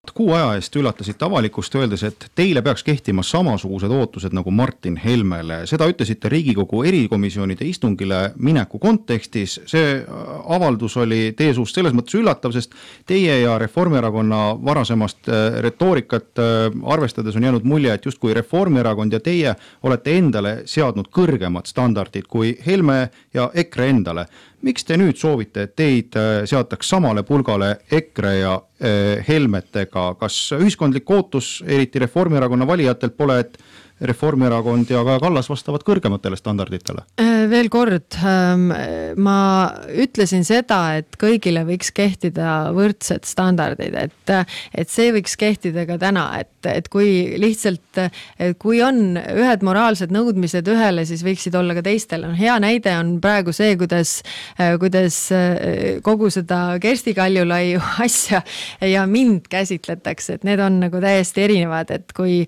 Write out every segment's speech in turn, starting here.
Kuu aja eest üllatasite avalikust öeldes, et teile peaks kehtima samasugused ootused nagu Martin Helmele. Seda ütlesite Riigikogu erikomisjonide istungile mineku kontekstis. See avaldus oli teie suust selles mõttes üllatav, sest teie ja Reformierakonna varasemast retoorikat arvestades on jäänud mulje, et justkui Reformierakond ja teie olete endale seadnud kõrgemad standardid kui Helme ja EKRE endale. Miks te nüüd soovite, et teid seataks samale pulgale EKRE ja Helmetega? Kas ühiskondlik ootus, eriti Reformierakonna valijatelt pole, et Reformierakond ja Kaja Kallas vastavad kõrgematele standarditele? Veel kord, ma ütlesin seda, et kõigile võiks kehtida võrdsed standardid, et see võiks kehtida ka täna, et kui lihtsalt, kui on ühed moraalsed nõudmised ühele, siis võiksid olla ka teistel. Hea näide on praegu see, kuidas kogu seda Kersti Kaljulaiu asja ja mind käsitletakse, et need on nagu täiesti erinevad, et kui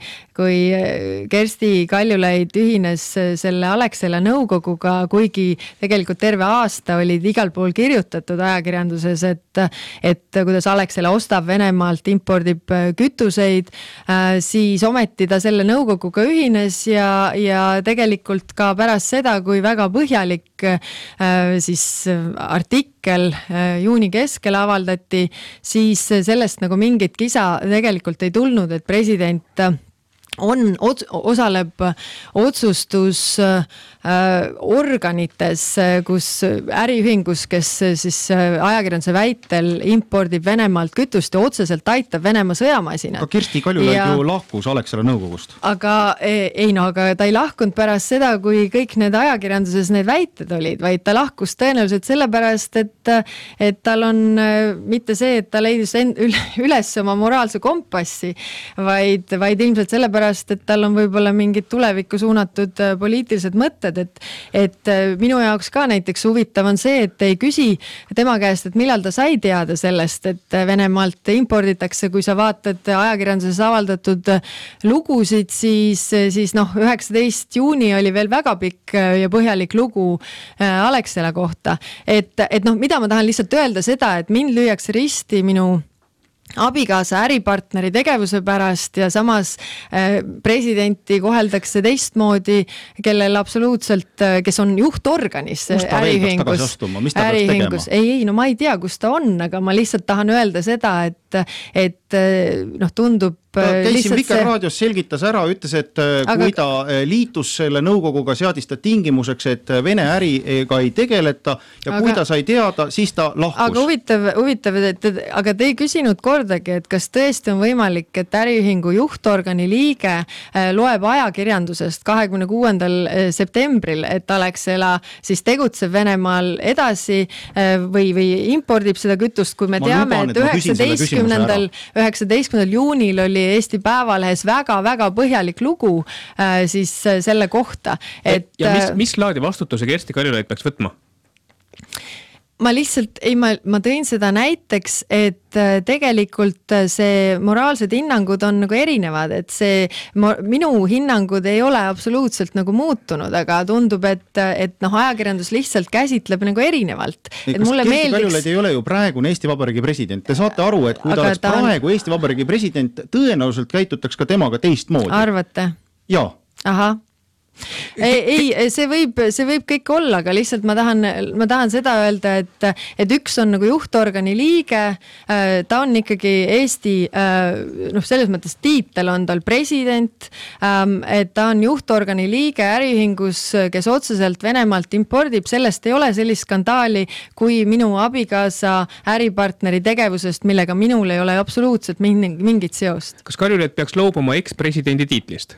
Kersti Kaljulaid ühines selle Alexela nõukoguga, kuigi tegelikult terve aasta olid igal pool kirjutatud ajakirjanduses, et kuidas Alexela ostab Venemaalt, impordib kütuseid, siis ometi ta selle nõukoguga ühines ja tegelikult ka pärast seda, kui väga põhjalik siis artikkel juuni keskel avaldati, siis sellest nagu mingit kisa tegelikult ei tulnud, et president osaleb otsustus organites, kus äriühingus, kes siis ajakirjanduse väitel impordib Venemaalt kütust ja otseselt aitab Venemaa sõjamasinat. Aga Kersti Kaljulaid ju lahkus Alexela nõukogust. Aga ta ei lahkunud pärast seda, kui kõik need ajakirjanduses need väited olid, vaid ta lahkus tõenäoliselt sellepärast, et tal on mitte see, et ta leidis üles oma moraalse kompassi, vaid ilmselt sellepärast, et tal on võib-olla mingid tulevikku suunatud poliitilised mõtted, et minu jaoks ka näiteks huvitav on see, et ei küsi tema käest, et millal ta sai teada sellest, et Venemaalt imporditakse, kui sa vaatad ajakirjanduses avaldatud lugusid, siis 19. juuni oli veel väga pikk ja põhjalik lugu Alexela kohta. Et mida ma tahan lihtsalt öelda seda, et mind lüüakse risti minu abikaasa äripartneri tegevuse pärast ja samas presidenti koheldakse teistmoodi, kellel absoluutselt, kes on juhtorganis äriühingus. Ma ei tea, kus ta on, aga ma lihtsalt tahan öelda seda, et tundub käisin Vikerraadios, selgitas ära, ütles, et kui ta liitus selle nõukoguga, seadis ta tingimuseks, et Vene äriga ei tegeleta ja kui ta sai teada, siis ta lahkus. Aga huvitav, aga te ei küsinud kordagi, et kas tõesti on võimalik, et äriühingu juhtorgani liige loeb ajakirjandusest 26. septembril, et Alexela siis tegutseb Venemaal edasi või impordib seda kütust, kui me teame, et 19. juunil oli Eesti Päevalehes väga-väga põhjalik lugu siis selle kohta. Ja mis laadi vastutuse Kersti Kaljulaid peaks võtma? Ma lihtsalt, ma tõin seda näiteks, et tegelikult see moraalsed hinnangud on nagu erinevad, et see minu hinnangud ei ole absoluutselt nagu muutunud, aga tundub, et ajakirjandus lihtsalt käsitleb nagu erinevalt. Kas Kersti Kaljulaid ei ole ju praegune Eesti Vabariigi president? Te saate aru, et kui ta oleks praegu Eesti Vabariigi president, tõenäoliselt käitutaks ka temaga teistmoodi. Arvate? Jaa. Aha. Ei, see võib kõik olla, aga lihtsalt ma tahan seda öelda, et üks on nagu juhtorgani liige, ta on ikkagi Eesti, selles mõttes tiitel on tal president, et ta on juhtorgani liige äriühingus, kes otseselt Venemaalt impordib, sellest ei ole sellist skandaali, kui minu abikaasa äripartneri tegevusest, millega minul ei ole absoluutselt mingit seost. Kas Kaljulaid peaks loobuma ekspresidendi tiitlist?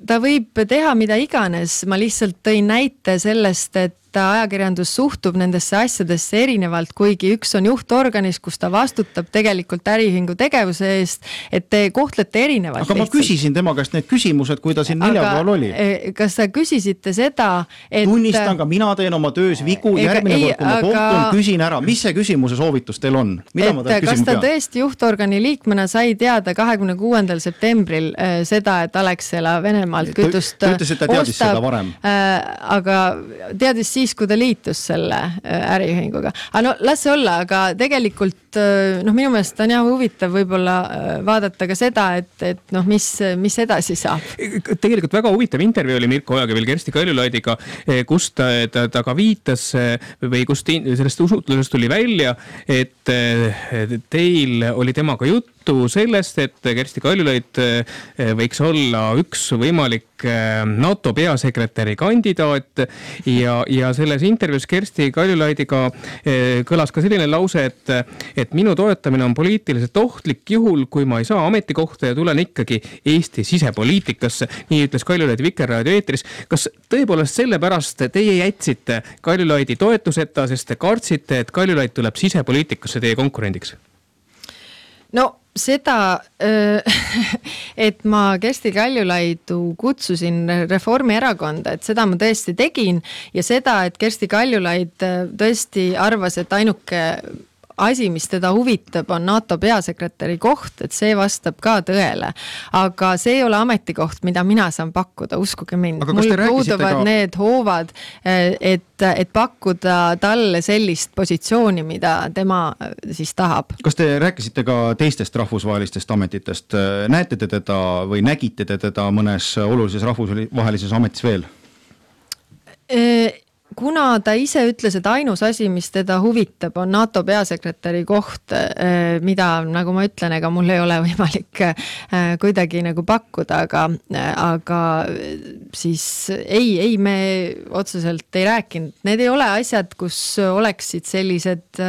Ta võib teha mida iganes, ma lihtsalt tõin näite sellest, et ajakirjandus suhtub nendesse asjadesse erinevalt, kuigi üks on juhtorganis, kus ta vastutab tegelikult äriühingu tegevuse eest, et te kohtlete erinevalt. Aga ma küsisin tema käest need küsimused, kui ta siin neljapäeval oli. Kas sa küsisite seda, et... Tunnistan ka, mina teen oma töös vigu, järgmine kord, kui ma kohtun, küsin ära, mis see küsimuse soovitus teil on? Kas ta tõesti juhtorgani liikmena sai teada 26. septembril seda, et Alexela Venemaalt kütust ta ütles, et ta teadis seda varem. Aga teadis siis, kui ta liitus selle äriühinguga. Aga no las see olla, aga tegelikult minu meelest on jah huvitav võib-olla vaadata ka seda, et mis edasi saab. Tegelikult väga huvitav intervjuu oli Mirko Ojaga veel Kersti Kaljulaidiga, kus ta ka viitas või kus sellest usutlusest tuli välja, et teil oli temaga juttu sellest, et Kersti Kaljulaid võiks olla üks võimalik NATO peasekretäri kandidaat ja selles intervjuus Kersti Kaljulaidiga kõlas ka selline lause, et minu toetamine on poliitiliselt ohtlik juhul, kui ma ei saa ametikohta ja tulen ikkagi Eesti sisepoliitikasse. Nii ütles Kaljulaid Vikerraadio eetris. Kas tõepoolest sellepärast teie jätsite Kaljulaidi toetuseta, sest te kartsite, et Kaljulaid tuleb sisepoliitikasse teie konkurendiks? No seda, et ma Kersti Kaljulaidu kutsusin Reformierakonda, et seda ma tõesti tegin ja seda, et Kersti Kaljulaid tõesti arvas, et ainuke asi, mis teda huvitab, on NATO peasekretäri koht, et see vastab ka tõele. Aga see ei ole ametikoht, mida mina saan pakkuda, uskuge mind. Mul puuduvad need hoovad, et pakkuda talle sellist positsiooni, mida tema siis tahab. Kas te rääkisite ka teistest rahvusvahelistest ametitest? Näete te teda või nägite te teda mõnes olulises rahvusvahelises ametis veel? Kuna ta ise ütles, et ainus asi, mis teda huvitab, on NATO peasekretäri koht, mida, nagu ma ütlen, ega mul ei ole võimalik kuidagi nagu pakkuda, aga siis ei, me otseselt ei rääkinud. Need ei ole asjad, kus oleksid sellised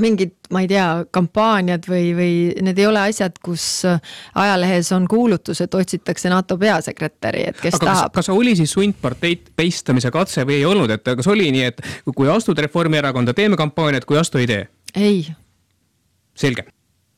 mingid, ma ei tea, kampaaniad või need ei ole asjad, kus ajalehes on kuulutus, et otsitakse NATO peasekretäri, et kes tahab. Kas oli siis sundparteid peistamise katse või ei olnud? Et kas oli nii, et kui astud Reformierakonda, teeme kampaaniat, kui astu ei tee? Ei. Selge.